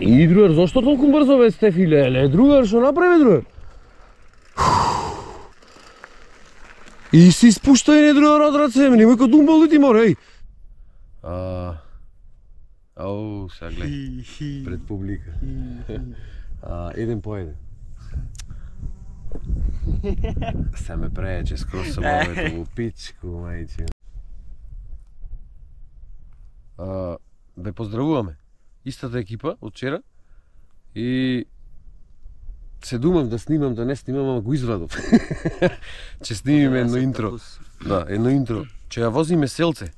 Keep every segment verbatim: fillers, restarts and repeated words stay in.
И другар, зашто толку брзо бе Стефи, леле, другар, што направи другар? И си спушта и не другар од раце, немој ка думбал ти мора, еј. А, ау, сега гледай, пред публика. А, еден по еден. Се ме преече скроз со мовето во пичку, мајче. А, ве поздравуваме. Истата екипа од вчера и се думам да снимам, да не снимам, ама го извадов. Че снимиме едно интро. Да, едно интро. Че ја возиме селце.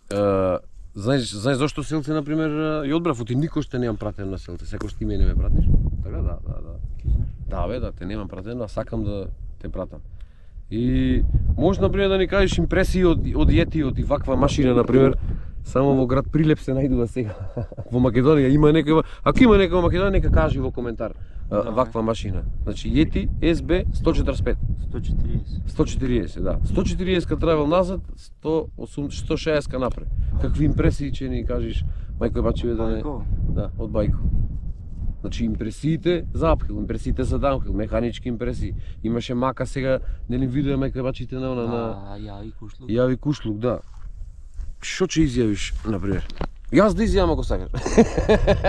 Uh, знаеш, знаеш зашто селце, например, ја одбрав, оти никош те немам пратен на селце, секој што ти мене ме пратиш. Така, да, да, да. Да, бе, да, те немам пратен, а сакам да те пратам. И можеш, например, да ни кажеш импресии од, од јетиот и ваква машина, например, само во град Прилеп се најдува сега. Во Македонија има некој, ако има некој во Македонија, нека кажи во коментар. Да, ваква машина. Значи Yeti ес би сто четрдесет и пет. сто четириесет. сто четириесет, да. сто четириесет ка трабал назад, сто осумдесет, сто шеесет ка напред. Какви импресии че ни кажеш, мајко бачиве да не... Да, од бајко. Значи импресиите за апхил, импресиите за даунхил, механички импресии. Имаше мака сега, нели видео мајко бачите на она на... А, јави кушлук. Јави кушлук, да. Што ќе изјавиш, например? Јас да изјавам ако сакаш.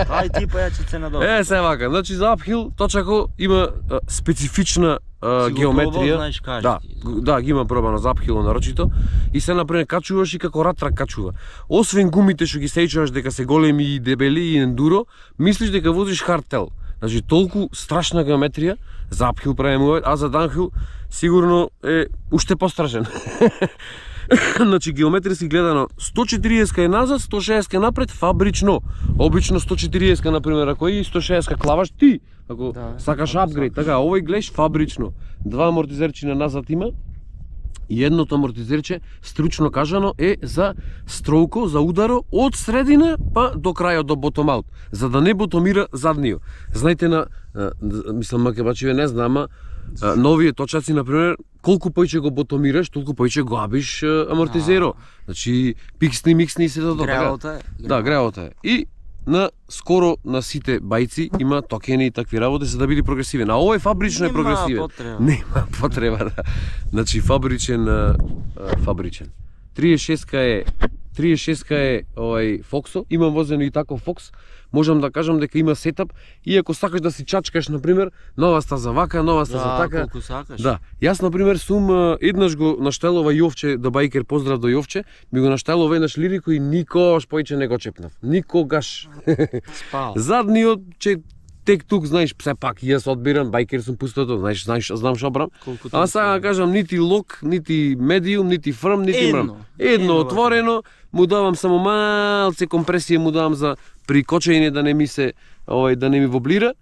Ај ти па ја ќе се надобри. Е, се вака, значи за апхил точако има а, специфична а, геометрија. Знаеш, кажи да, ти. да, ги има пробано за апхило нарочито. И се например качуваш и како ратрак качува. Освен гумите што ги сеќаваш дека се големи и дебели и ендуро, мислиш дека возиш хардтел. Значи толку страшна геометрија за апхил правиме, а за даунхил сигурно е уште пострашен. Значи геометриски гледано сто четириесет е назад, сто шеесет е напред фабрично. Обично сто четириесет например, ако и сто шеесет клаваш ти, ако да, сакаш апгрейд, така, овој гледаш фабрично. Два амортизерчи на назад има. И едното амортизерче, стручно кажано, е за строуко, за ударо од средина па до крајот, до bottom out, за да не ботомира задниот. Знаете на, мислам макебачиве не знам, ама новие точаци, например, колку поиќе го ботомираш, толку поиќе го абиш амортизеро. Значи, пиксни, миксни и се тоа. Греото е. Да, греото е. И на скоро на сите бајци има токени и такви работи за да биде прогресивен. А овој фабрично е прогресивен. Нема потреба. Нема потреба, да. Значи фабричен, а, фабричен. триесет и шест е триесет и шест е овај Фоксо, имам возено и таков Фокс. Можам да кажам дека има сетап и ако сакаш да си чачкаш, например, нова стаза вака, нова стаза да, така. Колку сакаш. Да. Јас, например, сум еднаш го наштелова Јовче, да бајкер, поздрав до Јовче, ми го наштелова еднаш лирико и никогаш поиќе не го чепнав. Никогаш. Спал. Задниот, че тек тук, знаеш, се пак јас одбирам, бајкер сум пустото, знаеш, знаеш, знам што брам. А сега да кажам, нити лок, нити медиум, нити фрм, нити мрам. Едно, Едно отворено, му давам само малце компресија, му давам за прикочење да не ми се, овај, да не ми воблира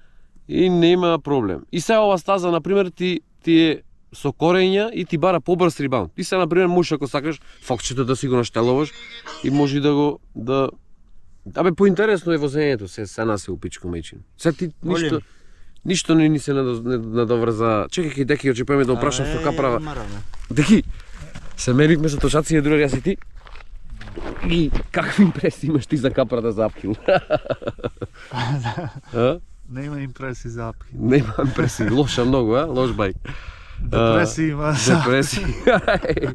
и нема проблем. И сега ова стаза, например, ти ти е со корења и ти бара побрз рибаунд. Ти се, например, можеш ако сакаш фокчето да си го наштелуваш и може да го да Абе, поинтересно е возењето, се се нас се упичко мечин. Се ти ништо ништо не ни се надоврза. Чекај, деки, очепаме да опрашам што каправа. Деки, се меривме со тошаци, друг јас и ти. И какви импресии имаш ти за капрата за апхил? Нема импресии за апхил. Нема импресии, лоша многу, а? Лош бајк. Депресија има. Депресија.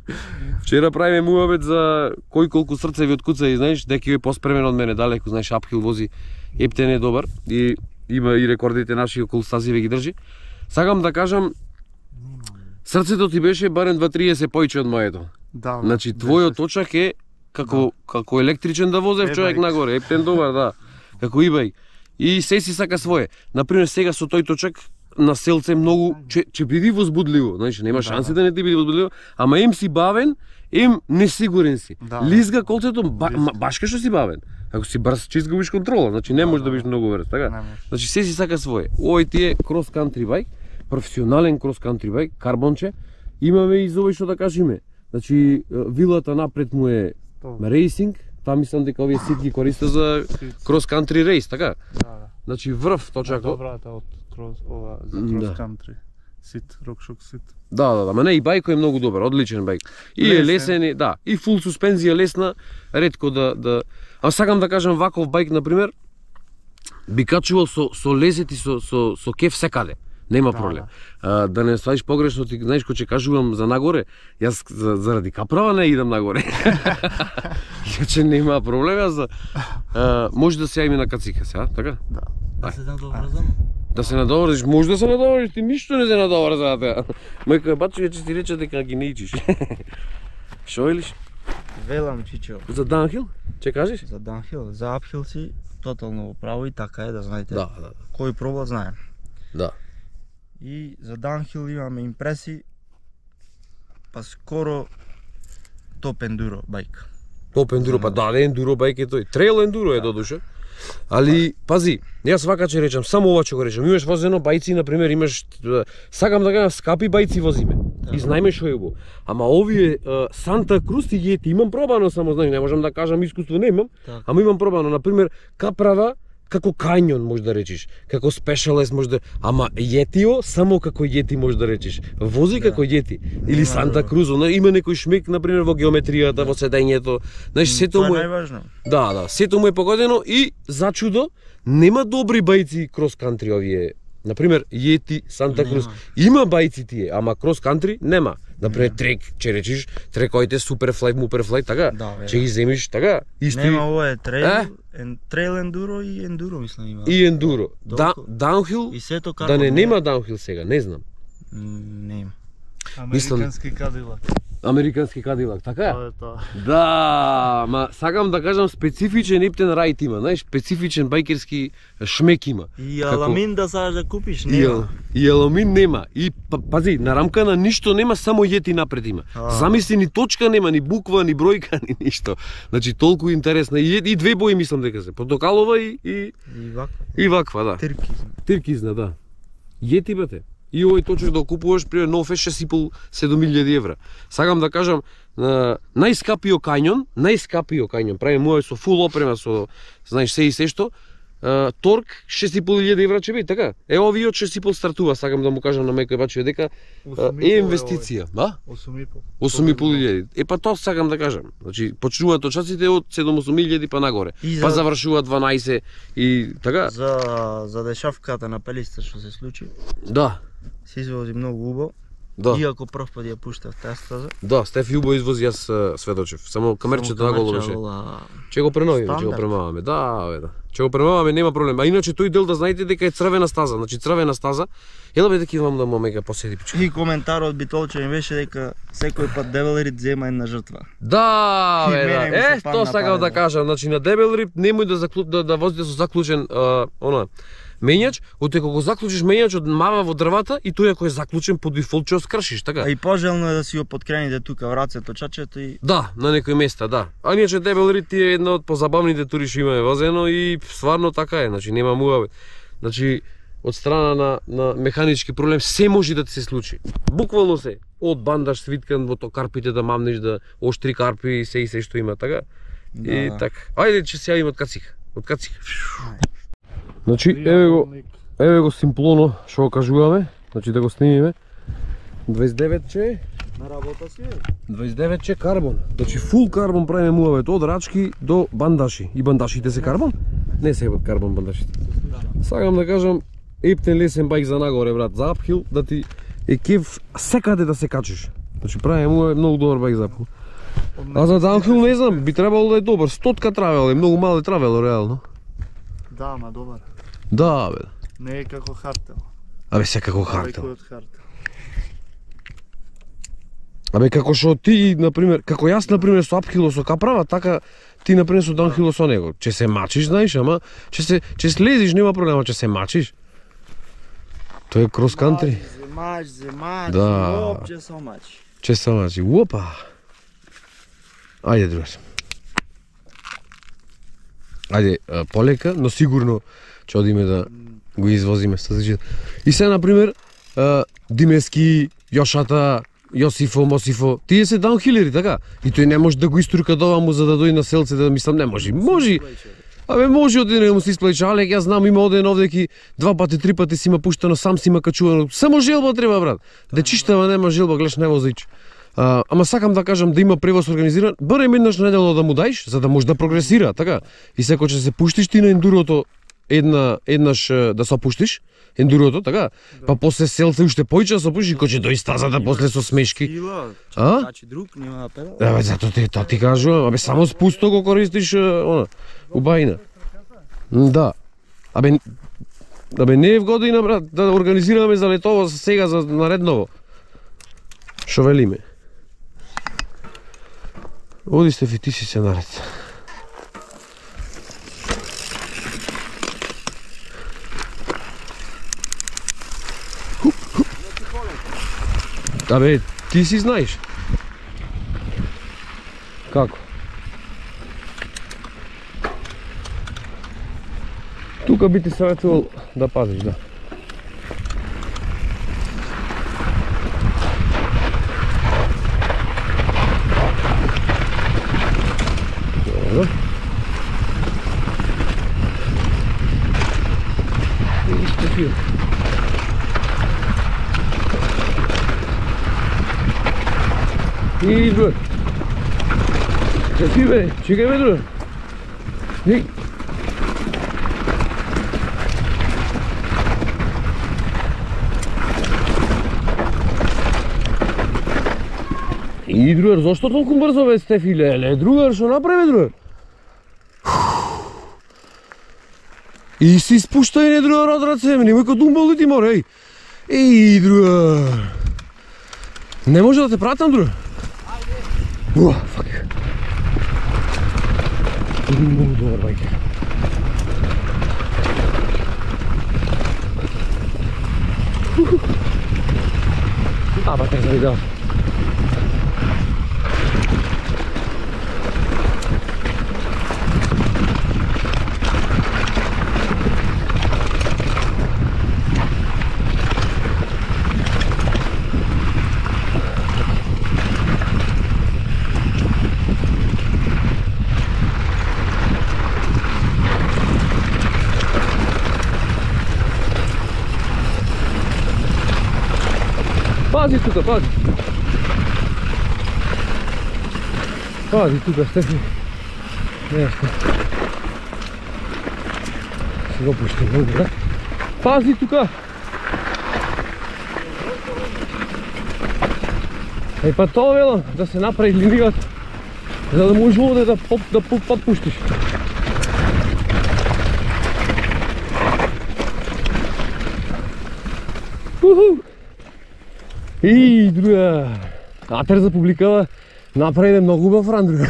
Вчера правиме муабет за кој колку срце ви откуца и знаеш, деки е поспремен од мене далеку, знаеш, апхил вози, ептен е добар и има и рекордите наши околу стази ве ги држи. Сакам да кажам, срцето ти беше барем два триесет поиќе од моето. Да. Значи твојот точак е како како електричен да возев човек нагоре, ептен добар, да. Како ибај. И се си сака свое. Например, сега со тој точак на селце многу че, че биди возбудливо, знаеш, нема шанси да не ти биде возбудливо, ама им си бавен, им несигурен си. Да, Лизга колцето ба, баш што си бавен. Ако си брз, че изгубиш контрола, значи не можеш да бидеш многу брз, така? Значи се си сака свое. Овој ти е крос кантри бајк, професионален крос кантри бајк, карбонче. Имаме и за овој што да кажеме. Значи вилата напред му е рейсинг, таа мислам дека овие сит ги користи за крос кантри рейс, така? Да, да. Значи врв точако. Добрата од крос ова за крос кантри. Сит, рокшок сит. Да, да, да, ма не, и бајко е многу добар, одличен бајк. И лесен. Е лесен, да, и фул суспензија лесна, ретко да да А сакам да кажам ваков бајк, например, би качувал со со лезет и со со со кеф секаде. Нема проблем. А, да не сваиш погрешно, ти знаеш кој ќе кажувам за нагоре, јас за, заради каправа не идам нагоре. Иначе нема проблем, јас за а, може да се јавиме на кацика сега, така? Да. Да се надоврзам. Да се надоврзиш, може да се надоврзиш, ти ништо не се надоврза сега. Мајка бачо ќе ти рече дека ги не ичиш. Шо илиш? Велам чичо. За даунхил? Че кажеш? За даунхил, за апхил си тотално право и така е да знаете. Да, да. Кој проба знае. Да. И за даунхил имаме импреси, па скоро топ ендуро бајк. Топ ендуро, па да, ендуро бајк е тој. Трейл ендуро е додуше. Али, пази, јас вака ќе речам, само ова ќе го речам. Имаш возено бајци, на пример, имаш, сакам да кажам, скапи бајци возиме. Да. И знаеме што е го. Ама овие Санта Круз и Јети, имам пробано само, знаеш, не можам да кажам искуство немам, Так. ама имам пробано, на пример, Каправа, како Кањон може да речиш, како Specialized може да, ама Јетио само како Јети може да речиш. Вози Да. како Јети или Санта Крузо, има некој шмек на пример во геометријата, во седењето. Знаеш, сето Тоа е му е најважно. Да, да, сето му е погодено и за чудо нема добри бајци крос кантри овие. На пример, Јети, Санта Нема. Круз. Има бајци тие, ама крос кантри нема. На пример, трек, ќе речиш, трековите суперфлај, муперфлај, така. Да, бе, Ќе да. ги земиш така. Исто Нема, ова е трейл, Е? ен, трейл ендуро и ендуро мислам има. и ендуро. Да, Толку. даунхил, И сето да карбон. не нема даунхил сега, не знам. М, Не има. Мислам- Американски кадилак. Американски кадилак, така е? Тоа е тоа. Да, ма сакам да кажам специфичен ептен рајт има, знаеш, специфичен бајкерски шмек има. И Како- аламин да сакаш да купиш, И, нема. и аламин нема. И па- пази, на рамка на ништо нема, само Јети напред има. А. Замисли, ни точка нема, ни буква, ни бројка, ни ништо. Значи толку интересно. И, и две бои мислам дека се. Портокалова и и, И вака. и ваква, да. Тиркизм. Тиркизна, да. Јети бате. И овој точок да купуваш при нов е шест и пол седум илјади евра. Сакам да кажам, на, најскапио кањон, најскапио кањон, прави мој со фул опрема, со, знаеш, се и се што, а, торк шест и пол илјади евра ќе биде, така? Е, овие од шест и пол стартува, сакам да му кажам на Мејко Бачио дека а, е инвестиција, да? осум и пол. осум и пол илјади. Е, па тоа сакам да кажам. Значи, почнуваат точаците од седум-осум илјади па нагоре. И за- Па завршуваат дванаесет и така? За за дешавката на пелиста што се случи, Да. се извози многу убаво. Да. Иако прв пат ја пуштав таа стаза. Да, Стеф Јубо извози, јас а, сведочев. Само камерчето наголо беше. Ќе го преновиме, ќе го Стандард. премаваме. Да, бе, да. Ќе го премаваме, нема проблем. А иначе тој дел да знаете дека е црвена стаза, значи црвена стаза. Еле бе дека имам да му мега поседи пичка. И коментарот Битолче ми беше дека секој пат Девелрид зема една жртва. Да, И бе, мене да. ми се Е, падна тоа сакав да парено. кажам, значи на дебел рип немој да заклю... да, да возите со заклучен а, она мењач, отеко го заклучиш мењачот мава во дрвата и тој ако е заклучен по дефолт ќе го скршиш, така? А и пожелно е да си го подкрените тука врацето чачето и Да, на некои места, да. А иначе дебел рид е една од позабавните тури што имаме возено и стварно така е, значи нема муавет. Значи од страна на на механички проблем се може да ти се случи. Буквално се, од бандаж свиткан во то карпите да мамнеш да оштри карпи и се и се што има, така? да. И така. Ајде че се јавим од кацик. Од кацик. Значи еве го, еве го симплоно што го кажуваме, значи да го снимиме. дваесет и девет че на работа си е. дваесет и девет че карбон. Значи фул карбон правиме муавет од рачки до бандаши. И бандашите се карбон? Не се од карбон бандашите. Сакам да кажам ептен лесен бајк за нагоре, брат, за апхил, да ти е кеф секаде да се качиш. Значи правиме муавет многу добар бајк за апхил. А за даунхил не знам, би требало да е добар. Стотка травел е, многу мал е травел реално. Да, ма добар. Да, бе. Не е како хартел. Абе секако хартел. Далеко од хартел. Абе како што ти, на пример, како јас на пример со апхило со каправа, така ти на пример со даунхило со него. Че се мачиш, знаеш, ама че се че слезиш нема проблема, че се мачиш. Тоа е крос кантри. Земач, земач, Да. воопче со мач. Че се мачи. Опа. Ајде, другар. Ајде, а, полека, но сигурно ќе одиме да го извозиме со зачит. И се на пример, а, Димески, Јошата, Јосифо, Мосифо, тие се даунхилери, така? И тој не може да го истурка до оваму за да дојде на селце, да мислам, не може. Може. Абе може оден да му се исплача, Алек, јас знам има оден овде два пати, три пати си има пуштано, сам си има качувано. Само желба треба, брат. Дечиштава нема желба, гледаш не возич. А, ама сакам да кажам да има превоз организиран, барем еднаш неделно да му даиш, за да може да прогресира, така? И секој ќе се пуштиш ти на ендурото, една еднаш е, да се опуштиш ендурото, така? Па после селце уште поише да се опуштиш, кој ќе дои стазата после со смешки. Сила, А? значи друг нема на педал. Абе, зато ти, та ти кажувам, абе, само спусто го користиш, е, она, убајна. Да. Абе, абе, не е вгодина, брат, да организираме за летово сега, за наредново. Шо велиме? Оди Стефи, ти си се наред. Абе, ти си знаеш. Како? Тука би ти съветувал да пазиш, да. Добро. И Стефи. И бе. Стефи бе, чекай бе друг. И. И другар, зашто толку брзо бе Стефи, леле, другар, шо направи другар? И си спуштај не другар од раце, немој ка думбал ти мора, еј. Еј, другар. Не може да те пратам, другар? Уа, фак. Много добар байкер. А, ба, те завидел. Пази тука, пази. Пази тука, Стефи. Нешто. Си го пушти много, да? Пази тука. Е, па тоа велам, да се направи линијата, за да може овде да поп, да подпуштиш. Уху! И друга, атер за публикава направи многу убав ран, друга.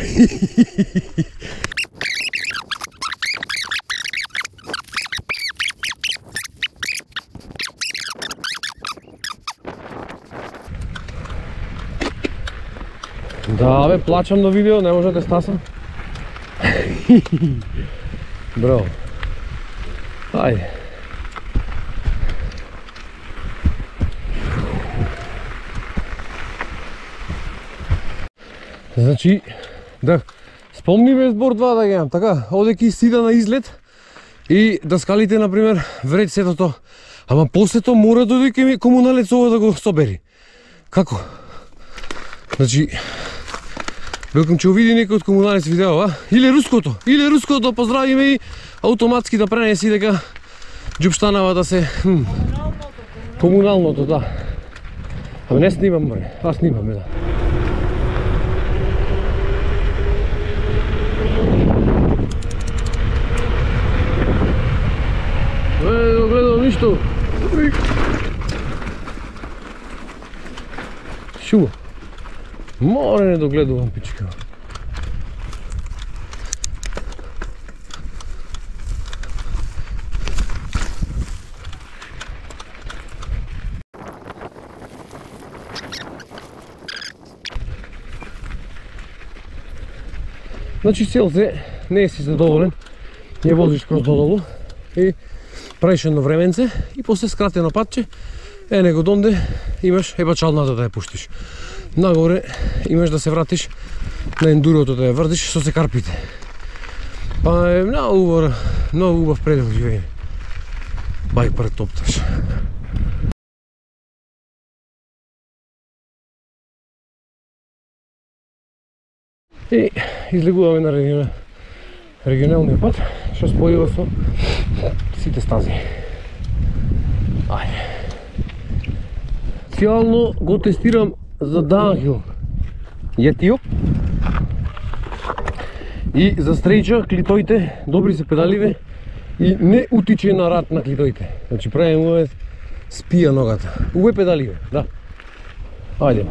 Да, бе, плачам на видео, не може да те стасам. Браво. Ајде. Значи, да, спомни ме збор два да геам, така, одеки сида на излет и да скалите, например, вред сето то. Ама после то мора да дојде ми комуналец ова да го собери. Како? Значи, велкам ќе увиди некој од комуналец видео, а? Или руското, или руското, поздравиме и автоматски да пренеси дека џупштанава да се... Хм, комуналното, да. Ама не снимам, бре, аз снимам, да. Не догледам ништо. Шу. Море не догледувам, пичка. Значи селце не си задоволен, ја возиш кроз додолу и правиш едно временце и после скратено патче, е него донде имаш еба чалната да ја пуштиш. Нагоре имаш да се вратиш на ендурото да ја врдиш со се карпите. Па е многу убав, многу убав предел живење. Бајк пред топташ. И излегуваме на регионалниот пат, што спојува со сите стази. Ајде. Специјално го тестирам за downhill јетио. И за стрейча клитоите добри се педаливе и не утиче на рад на клитоите. Значи правим ове спија ногата. Уве педаливе, да. Ајде.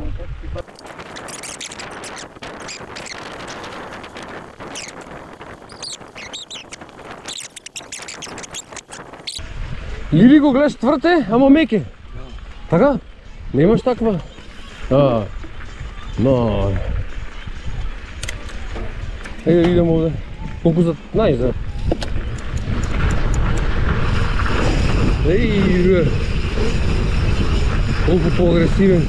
Или го гледаш тврте, ама меке. Така? Немаш таква? А. Но. Еј, идем овде. Колку за најзад. Еј, колку по-агресивен.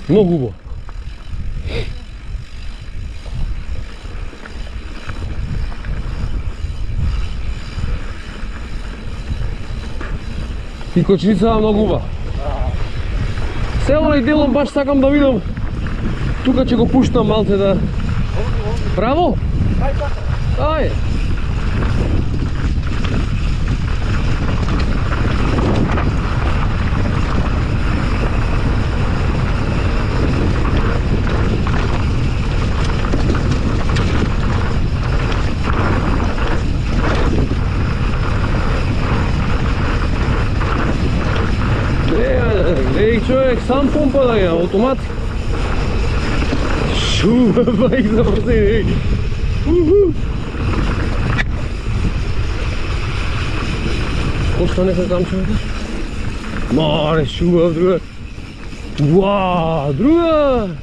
Многу убаво. И кочница многу убава. Се овој делом баш сакам да видам. Тука ќе го пуштам малце да... Право? Ај! Еј, човек, сам помпа да ја, автомат. Шуба, бајк за брзини, еј. Ошто нека там човек? Маре, шуба, друга. Уа, друга!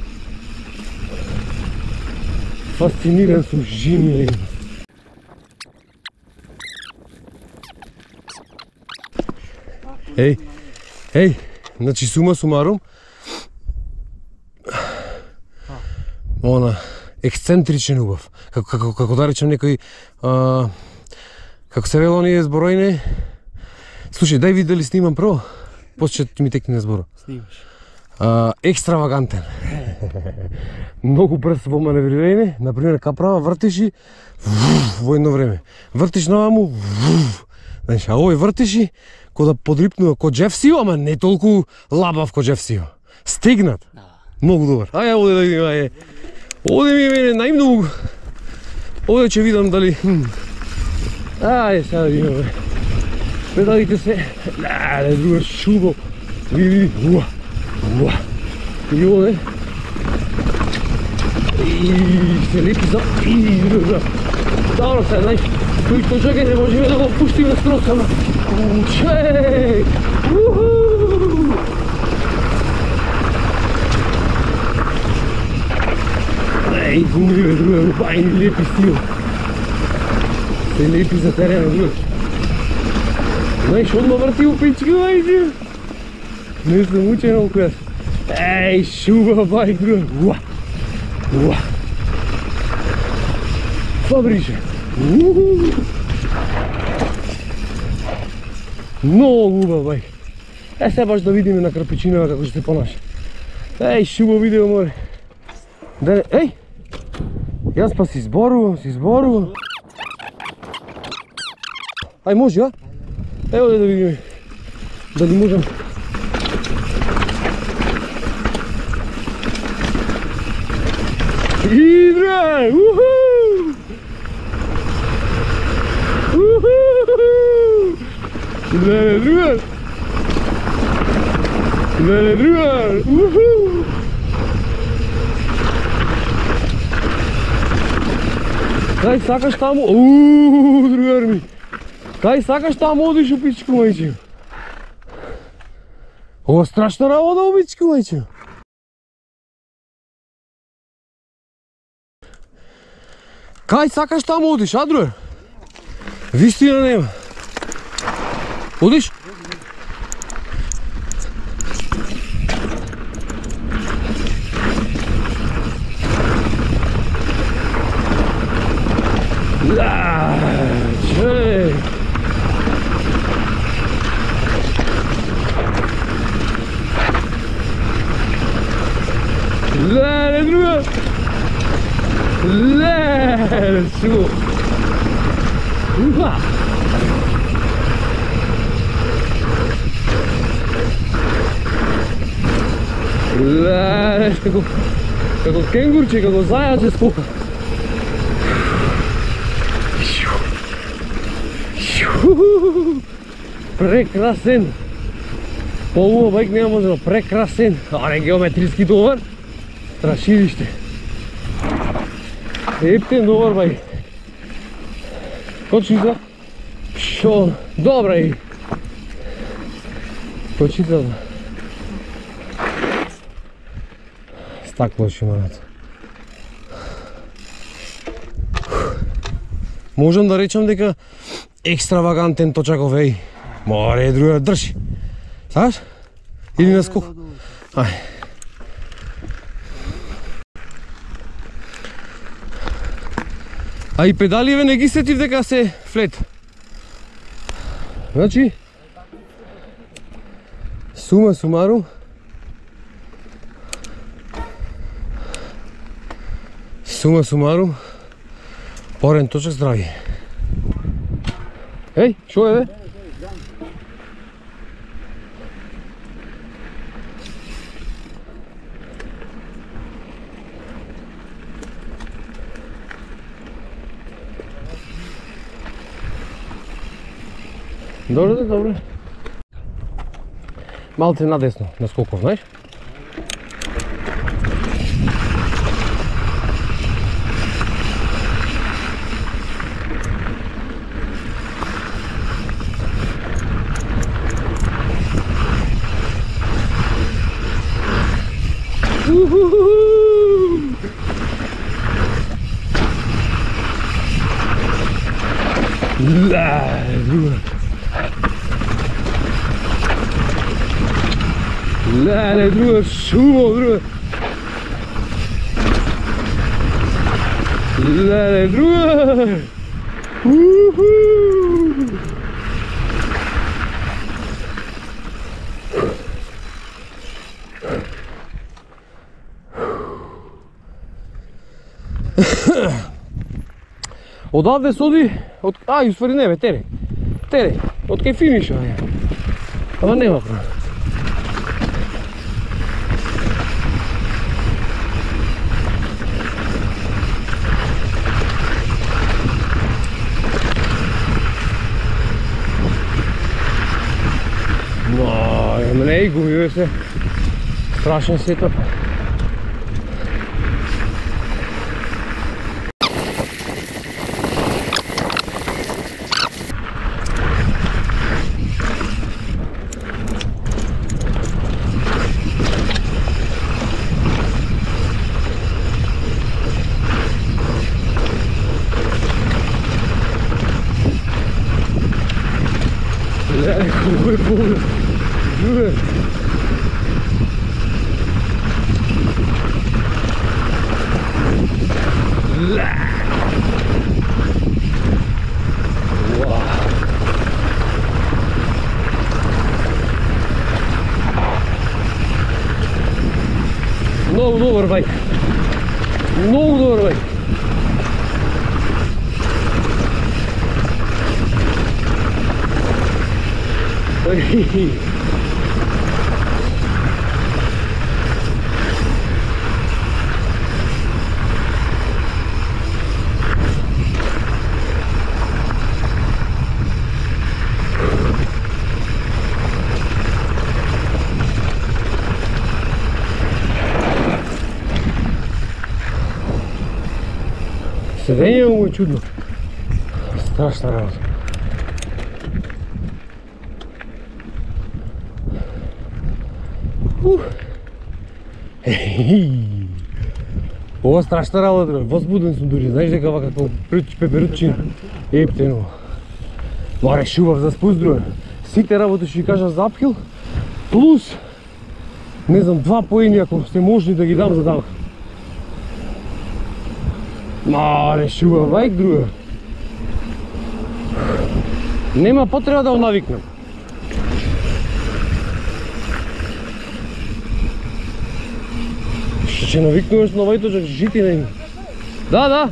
Фасциниран сум жими. Еј, еј. Значи, сума сумарум, она, ексцентричен убав. Како, како, како да речем некој, а, како се вело оние зборојне. Слушај, дај види дали снимам прво, после ќе ми текне зборо. Снимаш. А, екстравагантен. Многу брз во маневрирање, например, каправа вртиш и во едно време. Вртиш наваму, знаеш, а овој вртиш и ко да подрипнува ко Джефсио, ама не толку лабав ко Джефсио. Стегнат. Многу добар. Ајде овде да видим, ајде. Овде ми е мене најмногу. Овде ќе видам дали... Ајде сега да видим, бе. Педалите се... Леле, друга шубо. Види, види. Уа, уа. И овде... И се лепи за... И друга. Добро се, знаеш, кој што чака не можеме да го пуштиме скроз, ама... Учеј! Уху! Еј, гуми, бе, друга, бајни лепи стил. Се лепи за терена, друга. Знаеш, одма врти у пички, бајди. Не сум учен околу јас. Еј, шуба, бајк, друга. Уа! Уа! Фабрише. Уху! Многу убав, бајк. Е, се баш да видиме на крпичинава како ќе се понаша. Еј, шубо видео, море. Да, еј! Јас па си зборувам, си зборувам. Ај, може, а? Ево да видиме. Дали можам. Идра! Уху! Уху! Леле, друга! Леле, друга! Уху! Кај сакаш таму? Ууу, другар ми! Кај сакаш таму одиш у пичку, мајче? Ова страшна работа у пичку, мајче! Кај сакаш таму одиш, а, другар? Вистина нема. Одиш? Да, чек. друга, шо? Уха! Леле, како, како кенгурче, како зајаче скока. Прекрасен. По-убав бајк нема може, но прекрасен. Аре, геометриски добар. Страшилиште. Ептен добар бајк. Кочица. Шо, добра и. Кочица. Стакло шиманат. Можам да речам дека екстравагантен точаков, еј. Море, друга, држи. Саш? Или на скок? Ај. А и педаливе не ги сетив дека се флет. Значи, сума сумарум, сума сумарум, порен точак здрави. Еј, шо е бе? Добре, добре. Малце надесно, на скоков, знаеш? Леле, друга, шумо, друга. Леле, друга. Уху. Одавде се оди, од... ај, уствари не бе, тере. Тере, од кај финиша, бе. Ама нема проблем. Не и губиве се. Страшен сетап. Леле, хубаво е поле. Друге. Много добър байк. Много добър байк. Седение му е чудно. Страшна работа. Ух. Ова страшна работа, возбуден сум дури, знаеш дека ова како пеперутчина. Ептено. Ма решував за спуст друга. Сите работи што ви кажа за апхил, плюс, не знам, два поени ако сте можни да ги дам за дамка. Ма решував бајк друга. Нема потреба да го навикнам. Што ќе навикнуваш на овој точак жити на им. Да, да.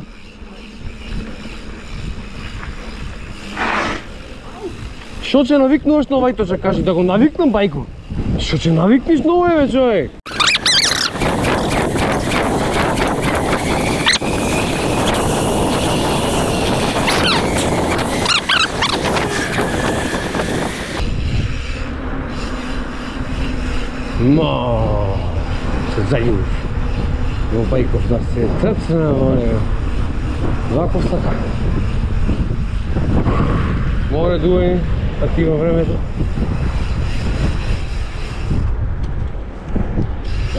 Што ќе навикнуваш на Вајточа, кажи да го навикнам бајко. Што ќе навикниш на овој бе човек? Ма, се зајуш. Во бајков да се црцна, море. Вако стака. Море дуе, такива времето.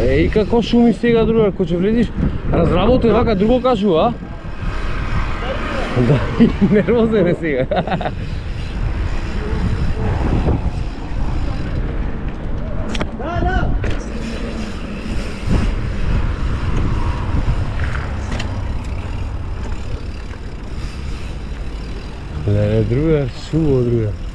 Е, и како шуми сега друга, ако ќе влезиш, разработен вака друго кажува, а? Да, нервозен е сега. Леле, друга, шумо друга.